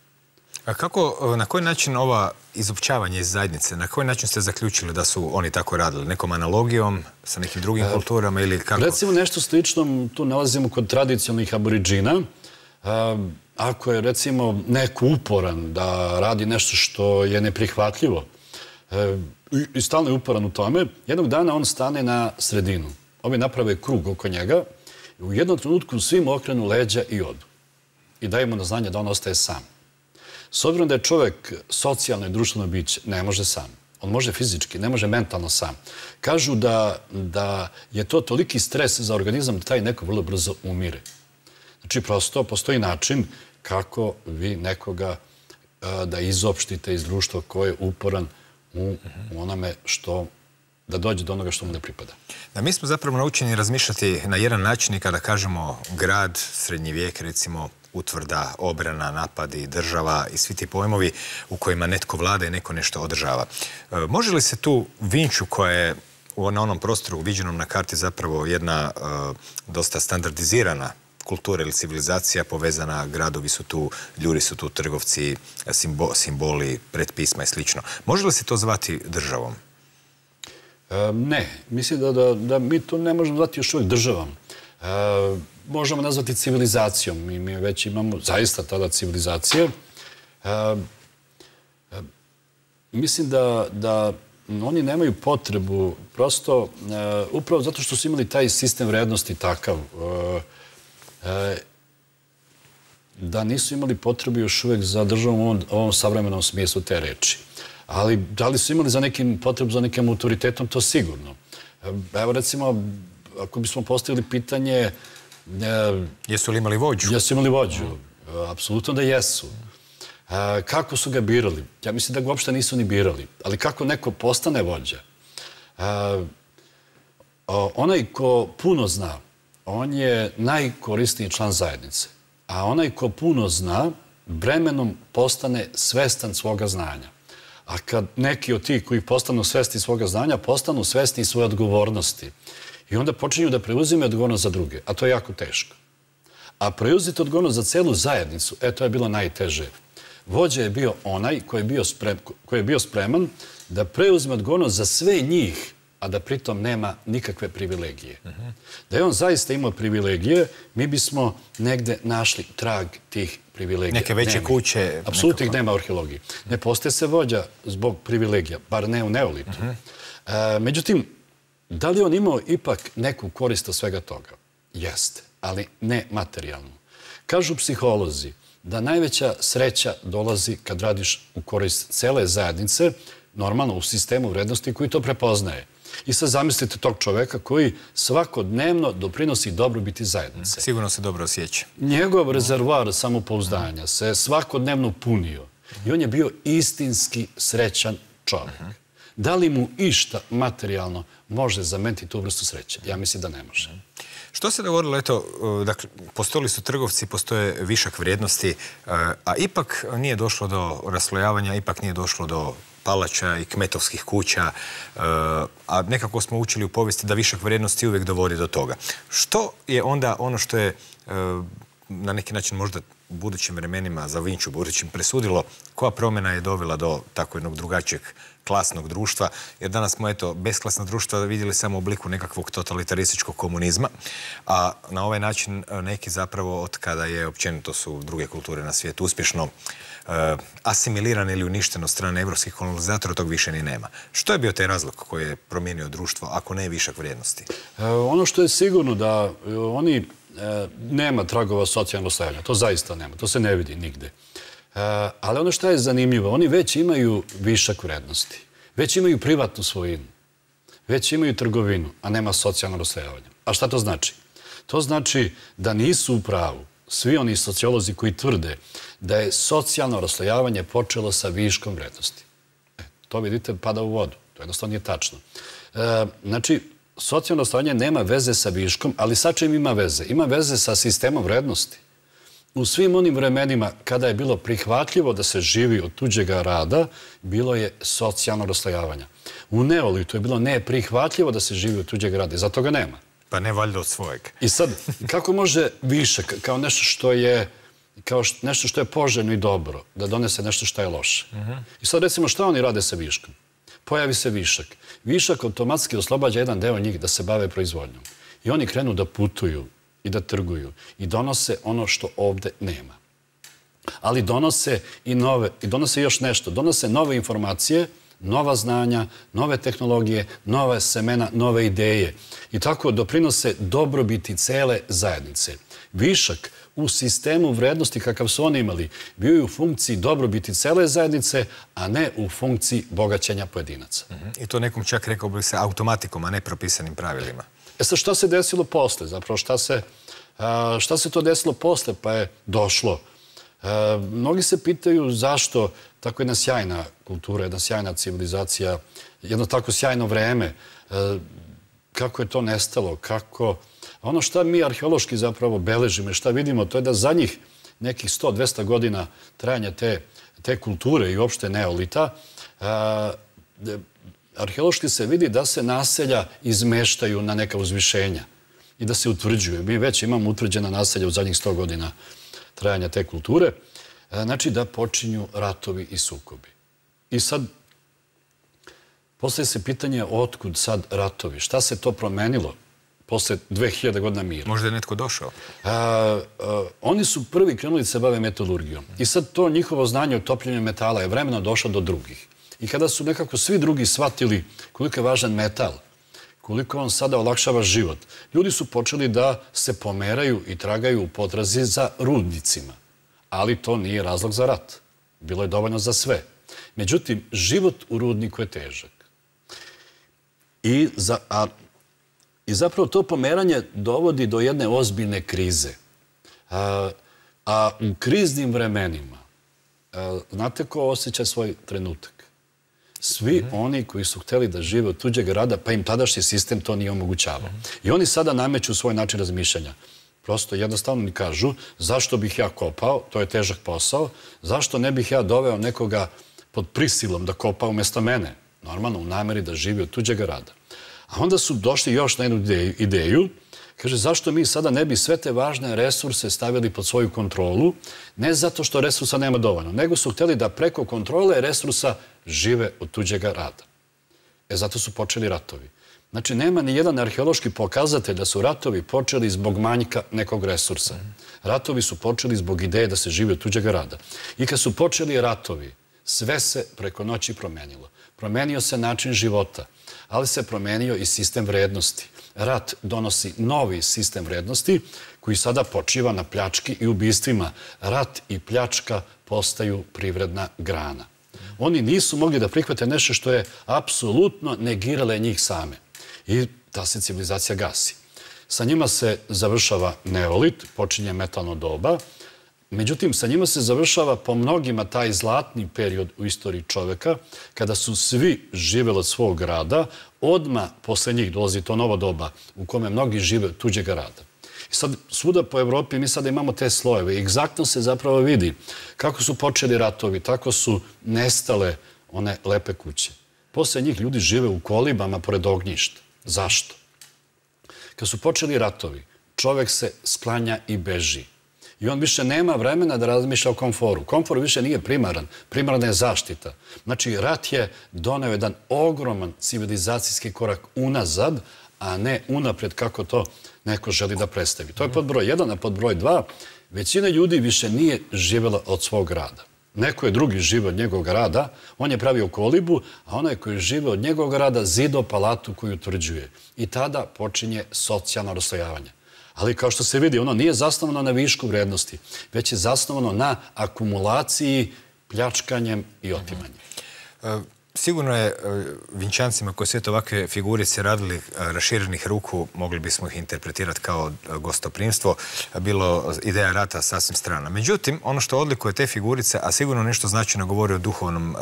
Speaker 1: A kako, na koji način ova izopćavanje iz zajednice, na koji način ste zaključili da su oni tako radili? Nekom analogijom, sa nekim drugim e, kulturama ili kako?
Speaker 2: Recimo nešto slično tu nalazimo kod tradicionalnih aboriđina. E, ako je recimo neko uporan da radi nešto što je neprihvatljivo e, i stalno je uporan u tome, jednog dana on stane na sredinu. Ovi naprave krug oko njega i u jednom trenutku svim okrenu leđa i odu. I daju mu na znanje da on ostaje sam. S obzirom da je čovjek socijalno i društveno biće, ne može sam. On može fizički, ne može mentalno sam. Kažu da, da je to toliki stres za organizam da taj neko vrlo brzo umire. Znači, prosto postoji način kako vi nekoga a, da izopštite iz društva koje je uporan u, u onome što, da dođe do onoga što mu ne pripada.
Speaker 1: Da, mi smo zapravo naučeni razmišljati na jedan način i kada kažemo grad, srednji vijek, recimo, utvrda, obrana, napadi, država i svi ti pojmovi u kojima netko vlada i neko nešto održava. E, može li se tu Vinču koja je na onom prostoru viđenom na karti zapravo jedna e, dosta standardizirana kultura ili civilizacija povezana, gradovi su tu, ljudi su tu, trgovci, simbo, simboli, predpisma i slično. Može li se to zvati državom?
Speaker 2: E, ne. Mislim da, da, da mi to ne možemo zvati još uvijek državom. E, možemo nazvati civilizacijom. Mi, mi već imamo zaista tada civilizacije. E, e, mislim da, da oni nemaju potrebu, prosto, e, upravo zato što su imali taj sistem vrednosti takav, e, e, da nisu imali potrebu još uvijek za državom u ovom, ovom savremenom smislu te reči. Ali da li su imali za nekim potrebu, za nekim autoritetom, to sigurno. Evo recimo, ako bismo postavili pitanje...
Speaker 1: Jesu li imali vođu?
Speaker 2: Jesu imali vođu. Apsolutno da jesu. Kako su ga birali? Ja mislim da ga uopšte nisu ni birali. Ali kako neko postane vođa? Onaj ko puno zna, on je najkorisniji član zajednice. A onaj ko puno zna, vremenom postane svestan svoga znanja. A kad neki od tih koji postanu svesni svoga znanja, postanu svesni svoje odgovornosti. I onda počinju da preuzime odgovornost za druge. A to je jako teško. A preuzeti odgovornost za celu zajednicu, e, to je bilo najteže. Vođa je bio onaj koji je bio, sprem, koji je bio spreman da preuzme odgovornost za sve njih, a da pritom nema nikakve privilegije. Uh-huh. Da je on zaista imao privilegije, mi bismo negde našli trag tih privilegija.
Speaker 1: Neke veće
Speaker 2: nema.
Speaker 1: kuće.
Speaker 2: Apsolutno ih nema u arheologiji. Ne postaje se vođa zbog privilegija, bar ne u neolitu. Uh-huh. e, međutim, da li on imao ipak neku korist od svega toga? Jeste, ali ne materijalnu. Kažu psiholozi da najveća sreća dolazi kad radiš u korist cele zajednice, normalno u sistemu vrednosti koji to prepoznaje. I sad zamislite tog čoveka koji svakodnevno doprinosi dobrobiti zajednice.
Speaker 1: Sigurno se dobro osjeća.
Speaker 2: Njegov rezervoar samopouzdanja se svakodnevno punio i on je bio istinski srećan čovek. Da li mu išta materijalno može zameniti tu vrstu sreće? Ja mislim da ne može.
Speaker 1: Što se dogodilo? Eto, dakle, postojali su trgovci, postoje višak vrijednosti, a ipak nije došlo do raslojavanja, ipak nije došlo do palača i kmetovskih kuća, a nekako smo učili u povijesti da višak vrijednosti uvijek dovodi do toga. Što je onda ono što je na neki način možda u budućim vremenima za Vinču budućim presudilo, koja promjena je dovela do tako jednog drugačijeg klasnog društva, jer danas smo, eto, besklasna društva vidjeli samo u obliku nekakvog totalitarističkog komunizma, a na ovaj način neki zapravo od kada je općenito su druge kulture na svijetu uspješno asimilirane ili uništeno od strane evropskih kolonizatora, tog više ni nema. Što je bio taj razlog koji je promijenio društvo, ako ne višak vrijednosti?
Speaker 2: Ono što je sigurno da oni nema tragova socijalnog stajanja. To zaista nema. To se ne vidi nigde. Ali ono što je zanimljivo, oni već imaju višak vrednosti. Već imaju privatnu svojinu. Već imaju trgovinu, a nema socijalno raslojavanje. A šta to znači? To znači da nisu u pravu svi oni sociolozi koji tvrde da je socijalno raslojavanje počelo sa viškom vrednosti. E, to vidite pada u vodu. To jednostavno nije tačno. E, znači, socijalno raslojavanje nema veze sa viškom, ali sa čim ima veze? Ima veze sa sistemom vrednosti. U svim onim vremenima kada je bilo prihvatljivo da se živi od tuđega rada, bilo je socijalno raslojavanje. U neolitu je bilo neprihvatljivo da se živi od tuđega rada i zato ga nema.
Speaker 1: Pa ne valjda od svojeg.
Speaker 2: I sad, kako može višak, kao nešto što je, kao nešto što je poželjno i dobro, da donese nešto što je loše? I sad recimo šta oni rade sa viškom? Pojavi se višak. Višak automatski oslobađa jedan deo njih da se bave proizvodnjom. I oni krenu da putuju i da trguju i donose ono što ovde nema. Ali donose i nove, i donose još nešto. Donose nove informacije, nova znanja, nove tehnologije, nove semena, nove ideje. I tako doprinose dobrobiti cele zajednice. Višak u sistemu vrednosti kakav su oni imali bio je u funkciji dobrobiti cele zajednice, a ne u funkciji bogaćenja pojedinaca.
Speaker 1: I to nekom čak rekao bi se automatikom, a ne propisanim pravilima.
Speaker 2: E sad, šta se desilo posle? Zapravo, šta se, šta se to desilo posle? Pa je došlo. Mnogi se pitaju zašto tako jedna sjajna kultura, jedna sjajna civilizacija, jedno tako sjajno vreme, kako je to nestalo, kako... Ono što mi arheološki zapravo beležimo i šta vidimo, to je da za njih nekih sto do dvesta godina trajanja te, te kulture i uopšte neolita, arheološki se vidi da se naselja izmeštaju na neka uzvišenja i da se utvrđuju. Mi već imamo utvrđena naselja u zadnjih sto godina trajanja te kulture. Znači da počinju ratovi i sukobi. I sad, postaje se pitanje otkud sad ratovi. Šta se to promenilo posle dve hiljade godina mira?
Speaker 1: Možda je netko došao.
Speaker 2: A, a, oni su prvi krenuli da se bave metalurgijom. I sad to njihovo znanje o topljenju metala je vremeno došlo do drugih. I kada su nekako svi drugi shvatili koliko je važan metal, koliko on sada olakšava život, ljudi su počeli da se pomeraju i tragaju u potrazi za rudnicima. Ali to nije razlog za rat. Bilo je dovoljno za sve. Međutim, život u rudniku je težak. I, za, a, i zapravo to pomeranje dovodi do jedne ozbiljne krize. A, a u kriznim vremenima, a, znate ko osjeća svoj trenutak? Svi mm-hmm. oni koji su hteli da žive od tuđeg rada, pa im tadašnji sistem to nije omogućavao. Mm-hmm. I oni sada nameću svoj način razmišljanja. Prosto jednostavno mi kažu, zašto bih ja kopao, to je težak posao, zašto ne bih ja doveo nekoga pod prisilom da kopa umjesto mene, normalno u nameri da živi od tuđeg rada. A onda su došli još na jednu ideju, ideju, kaže, zašto mi sada ne bi sve te važne resurse stavili pod svoju kontrolu, ne zato što resursa nema dovoljno, nego su htjeli da preko kontrole resursa žive od tuđeg rada. E, zato su počeli ratovi. Znači, nema ni jedan arheološki pokazatelj da su ratovi počeli zbog manjka nekog resursa. Ratovi su počeli zbog ideje da se živi od tuđeg rada. I kad su počeli ratovi, sve se preko noći promenilo. Promenio se način života, ali se promenio i sistem vrednosti. Rat donosi novi sistem vrednosti koji sada počiva na pljački i ubistvima. Rat i pljačka postaju privredna grana. Oni nisu mogli da prihvate nešto što je apsolutno negirale njih same. I ta se civilizacija gasi. Sa njima se završava neolit, počinje metalno doba. Međutim, sa njima se završava po mnogima taj zlatni period u istoriji čoveka, kada su svi živjeli od svog rada, odmah posle njih dolazi to novo doba u kome mnogi žive od tuđeg rada. I sad, svuda po Evropi mi sada imamo te slojeve. Egzaktno se zapravo vidi kako su počeli ratovi, tako su nestale one lepe kuće. Posle njih ljudi žive u kolibama pored ognjišta. Zašto? Kad su počeli ratovi, čovek se sklanja i beži. I on više nema vremena da razmišlja o komforu. Komfor više nije primaran. Primarna je zaštita. Znači, rat je doneo jedan ogroman civilizacijski korak unazad, a ne unapred kako to neko želi da predstavi. To je pod broj jedan, a pod broj dva, većina ljudi više nije živjela od svog rada. Neko je drugi živio od njegovog rada, on je pravio kolibu, a onaj koji je živio od njegovog rada zido palatu koju utvrđuje. I tada počinje socijalno raslojavanje. Ali kao što se vidi, ono nije zasnovano na višku vrednosti, već je zasnovano na akumulaciji, pljačkanjem i otimanjem.
Speaker 1: Sigurno je Vinčancima koji sve ovakve figurice radili raširenih ruku, mogli bismo ih interpretirati kao gostoprimstvo, bilo ideja rata sasvim strana. Međutim, ono što odlikuje te figurice, a sigurno nešto značajno govori o duhovnom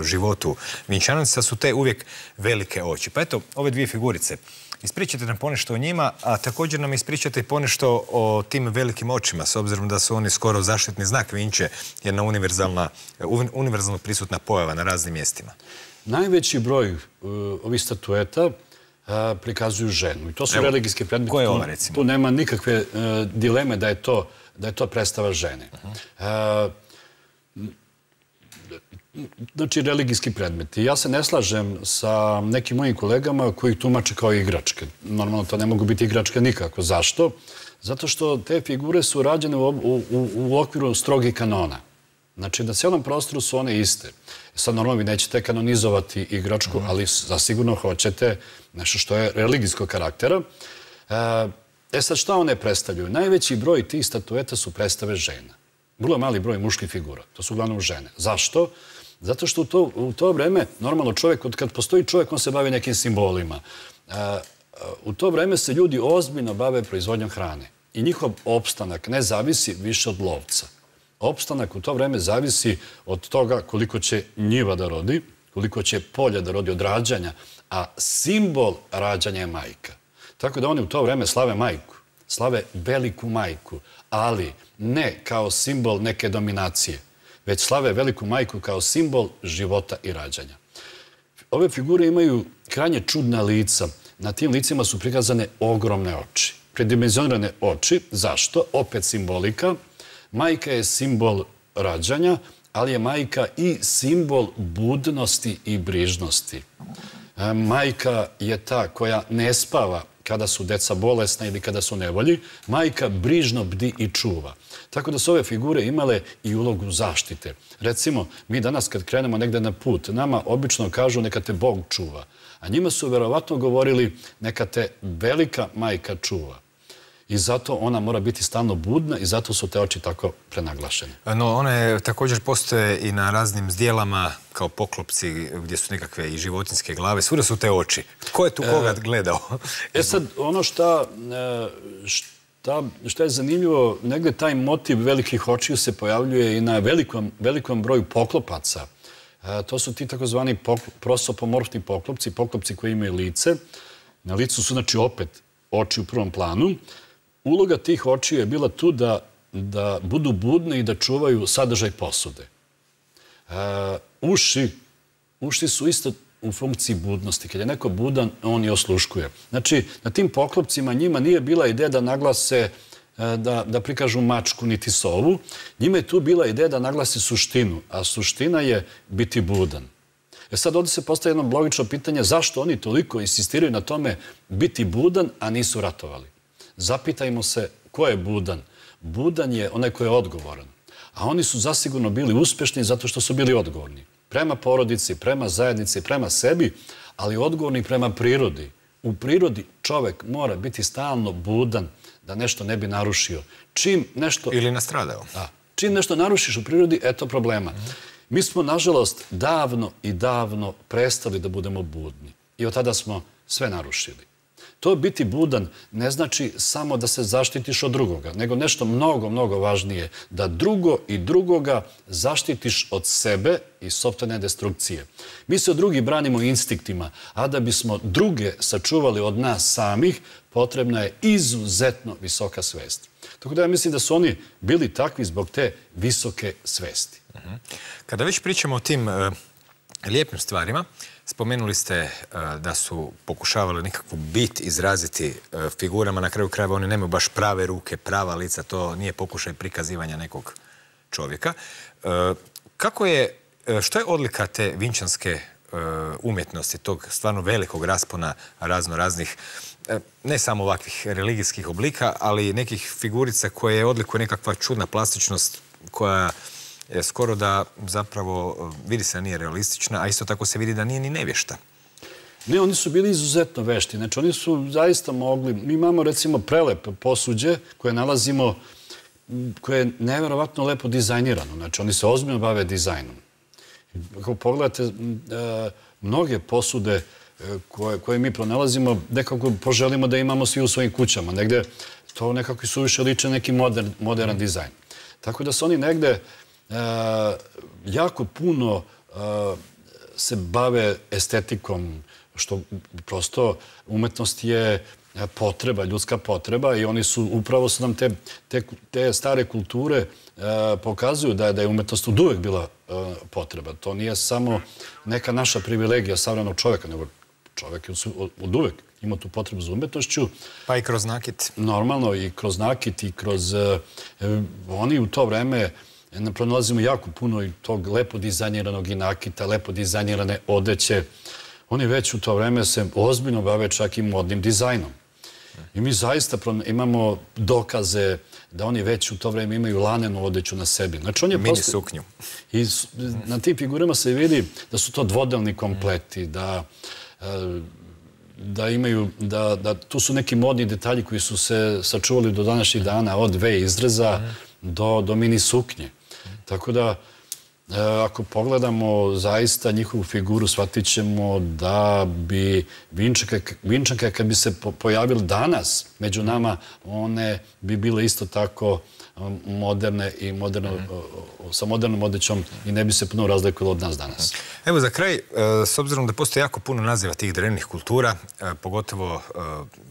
Speaker 1: životu Vinčanaca, su te uvijek velike oči. Pa eto, ove dvije figurice, ispričajte nam ponešto o njima, a također nam ispričajte i ponešto o tim velikim očima, s obzirom da su oni skoro zaštitni znak Vinče, jedna univerzalno prisutna pojava na raznim mjestima.
Speaker 2: Najveći broj ovih statueta prikazuju ženu. I to su religijske predmete.
Speaker 1: Koja je ova, recimo?
Speaker 2: Tu nema nikakve dileme da je to predstava žene. Znači, religijski predmeti. Ja se ne slažem sa nekim mojim kolegama koji tumače kao igračke. Normalno, to ne mogu biti igračke nikako. Zašto? Zato što te figure su rađene u okviru strogih kanona. Znači, na cijelom prostoru su one iste. Sad, normalno, vi nećete kanonizovati igračku, ali zasigurno hoćete nešto što je religijskog karaktera. E sad, šta one predstavljaju? Najveći broj tih statueta su predstave žena. Vrlo mali broj muških figura. To su uglavnom žene. Zašto? Zato što u to vreme, normalno čovjek, kad postoji čovjek, on se bavi nekim simbolima. U to vreme se ljudi ozbiljno bave proizvodnjom hrane. I njihov opstanak ne zavisi više od lovca. Opstanak u to vreme zavisi od toga koliko će njiva da rodi, koliko će polja da rodi od rađanja, a simbol rađanja je majka. Tako da oni u to vreme slave majku, slave veliku majku, ali ne kao simbol neke dominacije, već slave veliku majku kao simbol života i rađanja. Ove figure imaju krajnje čudna lica. Na tim licima su prikazane ogromne oči. Predimenzionirane oči. Zašto? Opet simbolika. Majka je simbol rađanja, ali je majka i simbol budnosti i brižnosti. Majka je ta koja ne spava kada su deca bolesna ili kada su nevolji. Majka brižno bdi i čuva. Tako da su ove figure imale i ulogu zaštite. Recimo, mi danas kad krenemo negde na put, nama obično kažu neka te Bog čuva. A njima su verovatno govorili neka te velika majka čuva. I zato ona mora biti stalno budna i zato su te oči tako prenaglašene.
Speaker 1: No, one također postoje i na raznim zdjelama kao poklopci gdje su nekakve i životinjske glave. Svuda su te oči. Ko je tu koga gledao?
Speaker 2: E sad, ono šta, šta, šta je zanimljivo, negdje taj motiv velikih očiju se pojavljuje i na velikom, velikom broju poklopaca. To su ti takozvani prosopomorfni poklopci, poklopci koji imaju lice. Na licu su, znači, opet oči u prvom planu. Uloga tih očiju je bila tu da, da budu budne i da čuvaju sadržaj posude. E, uši, uši su isto u funkciji budnosti. Kad je neko budan, on je osluškuje. Znači, na tim poklopcima njima nije bila ideja da naglase, da, da prikažu mačku niti sovu. Njima je tu bila ideja da naglasi suštinu, a suština je biti budan. E sad ovdje se postaje jedno logično pitanje zašto oni toliko insistiraju na tome biti budan, a nisu ratovali. Zapitajmo se ko je budan. Budan je onaj ko je odgovoran. A oni su zasigurno bili uspješni zato što su bili odgovorni. Prema porodici, prema zajednici, prema sebi, ali odgovorni prema prirodi. U prirodi čovek mora biti stalno budan da nešto ne bi narušio. Čim nešto...
Speaker 1: Ili nastradao.
Speaker 2: Da. Čim nešto narušiš u prirodi, eto problema. Mi smo, nažalost, davno i davno prestali da budemo budni. I od tada smo sve narušili. To biti budan ne znači samo da se zaštitiš od drugoga, nego nešto mnogo, mnogo važnije. Da drugo i drugoga zaštitiš od sebe i sopstvene destrukcije. Mi se od drugih branimo instinktima, a da bismo druge sačuvali od nas samih, potrebna je izuzetno visoka svest. Tako da ja mislim da su oni bili takvi zbog te visoke svesti.
Speaker 1: Kada već pričamo o tim lijepim stvarima, spomenuli ste da su pokušavali nekakvu bit izraziti figurama. Na kraju krajeva oni nemaju baš prave ruke, prava lica. To nije pokušaj prikazivanja nekog čovjeka. Kako je, što je odlika te vinčanske umjetnosti, tog stvarno velikog raspona razno raznih, ne samo ovakvih religijskih oblika, ali nekih figurica koje je odlikuje nekakva čudna plastičnost koja je skoro da zapravo vidi se da nije realistična, a isto tako se vidi da nije ni nevješta.
Speaker 2: Ne, oni su bili izuzetno vešti. Znači, oni su zaista mogli... Mi imamo, recimo, prelepe posuđe koje nalazimo, koje je nevjerovatno lepo dizajnirano. Znači, oni se ozbiljno bave dizajnom. Ako pogledate, mnoge posude koje mi pronalazimo, nekako poželimo da imamo svi u svojim kućama. Negde to nekako suviše liče neki modern dizajn. Tako da su oni negde jako puno se bave estetikom, što prosto umetnost je potreba, ljudska potreba i oni su, upravo su nam te, te, te stare kulture pokazuju da je, da je umetnost od uvek bila potreba. To nije samo neka naša privilegija savremenog čoveka, nego čovek je od uvek imao tu potrebu za umetnošću.
Speaker 1: Pa i kroz nakit.
Speaker 2: Normalno, i kroz nakit, i kroz... Oni u to vreme pronalazimo jako puno i tog lepo dizajniranog i nakita, lepo dizajnirane odeće. Oni već u to vreme se ozbiljno bave čak i modnim dizajnom. I mi zaista imamo dokaze da oni već u to vreme imaju lanenu odeću na sebi. Znači, on je
Speaker 1: mini suknju.
Speaker 2: I na tim figurama se vidi da su to dvodelni kompleti, da da imaju, da, da tu su neki modni detalji koji su se sačuvali do današnjih dana, od V izreza do, do mini suknje. Tako da, ako pogledamo zaista njihovu figuru, shvatit ćemo da bi vinčanke, vinčanke kad bi se pojavili danas među nama, one bi bile isto tako moderne i moderno, sa modernom odećom i ne bi se puno razlikovalo od nas danas.
Speaker 1: Evo za kraj, s obzirom da postoje jako puno naziva tih drevnih kultura, pogotovo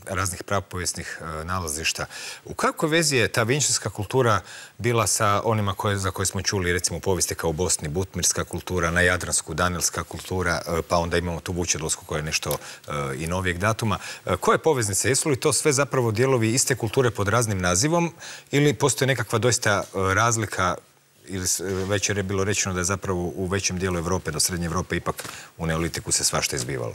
Speaker 1: raznih prapovijesnih nalazišta, u kakvoj vezi je ta vinčanska kultura bila sa onima koje, za koje smo čuli, recimo u povijesti kao u Bosni, butmirska kultura, na Jadransku, danilska kultura, pa onda imamo tu vučedolsku koja je nešto i novijeg datuma. Koje poveznice? Jesu li to sve zapravo dijelovi iste kulture pod raznim nazivom ili postoje nekakva doista razlika, ili već je bilo rečeno da je zapravo u većem dijelu Evrope, do Srednje Evrope, ipak u neolitiku se svašta izbivalo?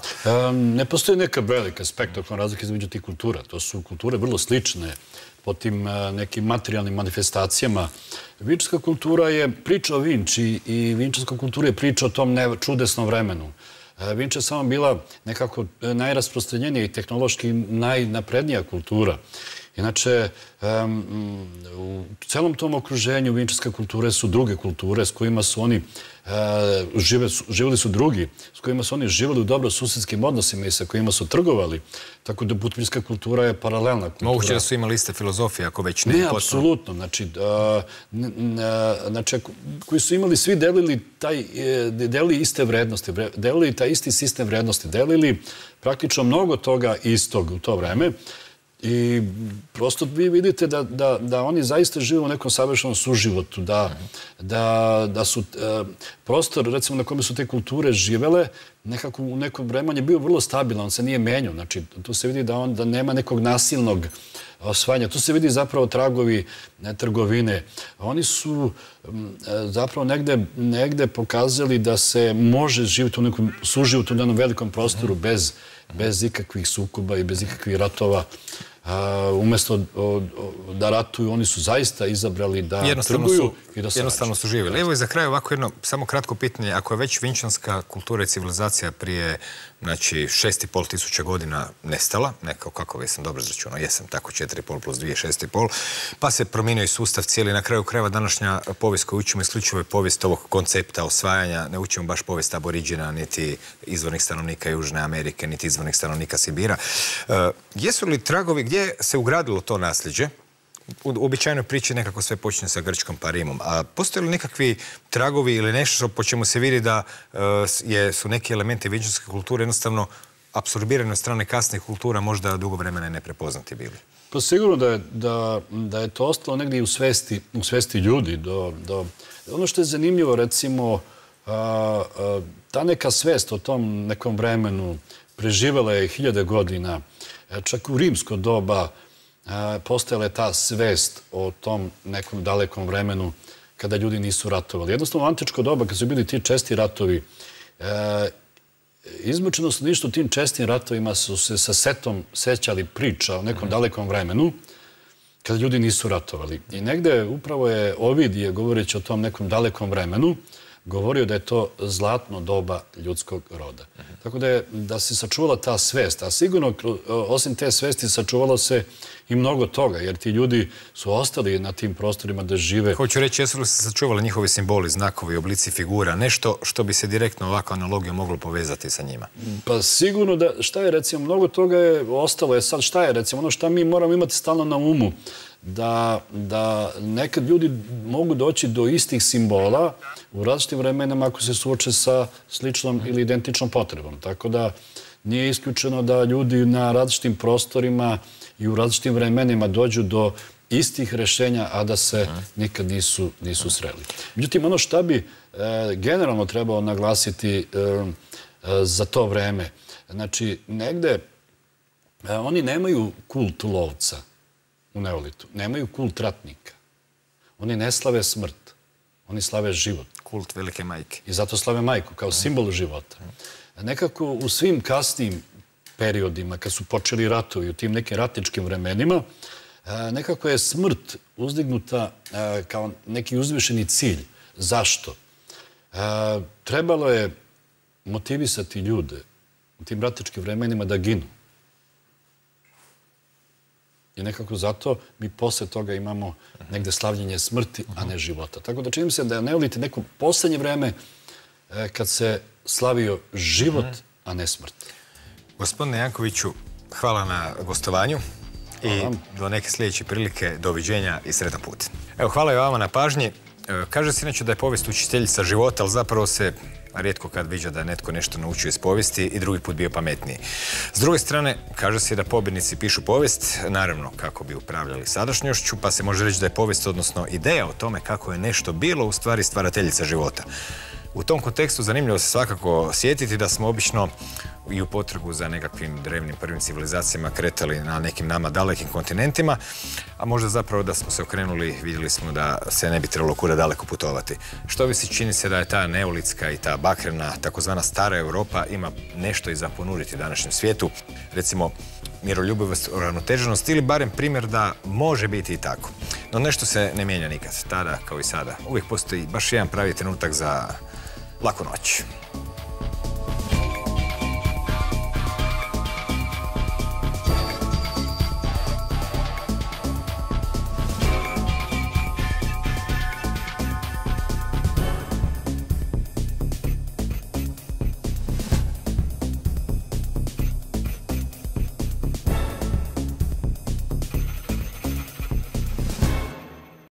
Speaker 2: Ne postoji neka velika spektakularna razlika između tih kultura. To su kulture vrlo slične po tim nekim materijalnim manifestacijama. Vinčanska kultura je priča o Vinči i vinčanska kultura je priča o tom čudesnom vremenu. Vinča je samo bila nekako najrasprostranjenija i tehnološki najnaprednija kultura. Inače, u celom tom okruženju vinčarske kulture su druge kulture s kojima su oni živjeli su drugi, s kojima su oni živjeli u dobro susedskim odnosima i sa kojima su trgovali. Tako da butmirska kultura je paralelna kultura.
Speaker 1: Moguće da su imali iste filozofije, ako već ne.
Speaker 2: Ne, apsolutno. Znači, koji su imali, svi delili taj, delili iste vrednosti, delili taj isti sistem vrednosti, delili praktično mnogo toga istog u to vreme. I prosto vi vidite da oni zaista žive u nekom savršenom suživotu, da su prostor, recimo, na kome su te kulture živele, nekako u nekom vremenu je bio vrlo stabilan, on se nije menjao. Znači, tu se vidi da nema nekog nasilnog osvajanja. Tu se vidi zapravo tragovi trgovine. Oni su zapravo negde pokazali da se može živjeti u nekom suživotu na jednom velikom prostoru bez bez ikakvih sukoba i bez ikakvih ratova. Umjesto da ratuju, oni su zaista izabrali da trguju i da sarađuju.
Speaker 1: Jednostavno su živjeli. Evo i za kraj ovako jedno samo kratko pitanje. Ako je već vinčanska kultura i civilizacija prije šest i pol tisuća godina nestala, nekako kako vi sam dobro izračunao, jesam tako četiri i pol plus dvije, šest i pol, pa se promijenio i sustav cijeli. Na kraju krajeva današnja povijest koju učimo isključivo je povijest ovog koncepta osvajanja. Ne učimo baš povijest aboriđena, niti izvornih stanovnika Južne Amerike, niti izvornih stanovnika Sibira. Jesu li tragovi gdje se ugradilo to nasljeđe? U običajnoj priči nekako sve počne sa Grčkom pa Rimom. A postoje li nekakvi tragovi ili nešto po čemu se vidi da su neki elementi vinčarske kulture jednostavno apsorbirane od strane kasnih kultura, možda dugo vremena neprepoznati bili?
Speaker 2: Pa sigurno da je to ostalo negdje u svesti ljudi. Ono što je zanimljivo, recimo, ta neka svest o tom nekom vremenu preživjela je hiljade godina. Čak u rimsko doba postojala je ta svest o tom nekom dalekom vremenu kada ljudi nisu ratovali. Jednostavno, u antičko doba, kad su bili ti česti ratovi, izmučeno su ništa u tim čestim ratovima, su se sa setom sećali priča o nekom dalekom vremenu kada ljudi nisu ratovali. I negde upravo je Ovidije, govoreći o tom nekom dalekom vremenu, govorio da je to zlatno doba ljudskog roda. Tako da se sačuvala ta svest, a sigurno osim te svesti sačuvalo se i mnogo toga, jer ti ljudi su ostali na tim prostorima da žive.
Speaker 1: Hoću reći, jesu li se sačuvali njihovi simboli, znakovi, oblici figura, nešto što bi se direktno ovako analogijom moglo povezati sa njima?
Speaker 2: Pa sigurno da, šta je recimo, mnogo toga je ostalo. Je sad šta je recimo, ono šta mi moramo imati stalno na umu, da nekad ljudi mogu doći do istih simbola u različitim vremenama ako se suoče sa sličnom ili identičnom potrebom. Tako da nije isključeno da ljudi na različitim prostorima i u različitim vremenima dođu do istih rešenja, a da se nikad nisu sreli. Međutim, ono šta bi generalno trebalo naglasiti za to vreme, znači negde oni nemaju kult lovca u neolitu, nemaju kult ratnika. Oni ne slave smrt, oni slave život.
Speaker 1: Kult velike majke.
Speaker 2: I zato slave majku kao simbol života. Nekako u svim kasnim periodima, kad su počeli ratovi, u tim nekim ratničkim vremenima, nekako je smrt uzdignuta kao neki uzvišeni cilj. Zašto? Trebalo je motivisati ljude u tim ratničkim vremenima da ginu. I nekako zato mi posle toga imamo negde slavljenje smrti, a ne života. Tako da činim se da je neolit neko poslednje vreme kad se slavio život, a ne smrt.
Speaker 1: Gospodine Jankoviću, hvala na gostovanju i do neke sljedeće prilike, doviđenja i sretan put. Evo, hvala i vama na pažnji. Kaže se inače da je povijest učiteljica života, ali zapravo se rijetko kad viđa da je netko nešto naučio iz povijesti i drugi put bio pametniji. S druge strane, kaže se da pobjednici pišu povijest, naravno kako bi upravljali sadašnjošću, pa se može reći da je povijest, odnosno ideja o tome kako je nešto bilo, u stvari stvarateljica života. U tom kontekstu zanimljivo se svakako sjetiti da smo obično i u potragu za nekakvim drevnim prvim civilizacijama kretali na nekim nama dalekim kontinentima, a možda zapravo da smo se okrenuli, vidjeli smo da se ne bi trebalo kuda daleko putovati. Što vi se čini se da je ta neolitska i ta bakrena, takozvana stara Europa, ima nešto i za ponuditi današnjem svijetu, recimo miroljubivost, uravnoteženost ili barem primjer da može biti i tako. No nešto se ne mijenja nikad, tada kao i sada. Uvijek postoji baš jedan pravi trenutak za laku noć.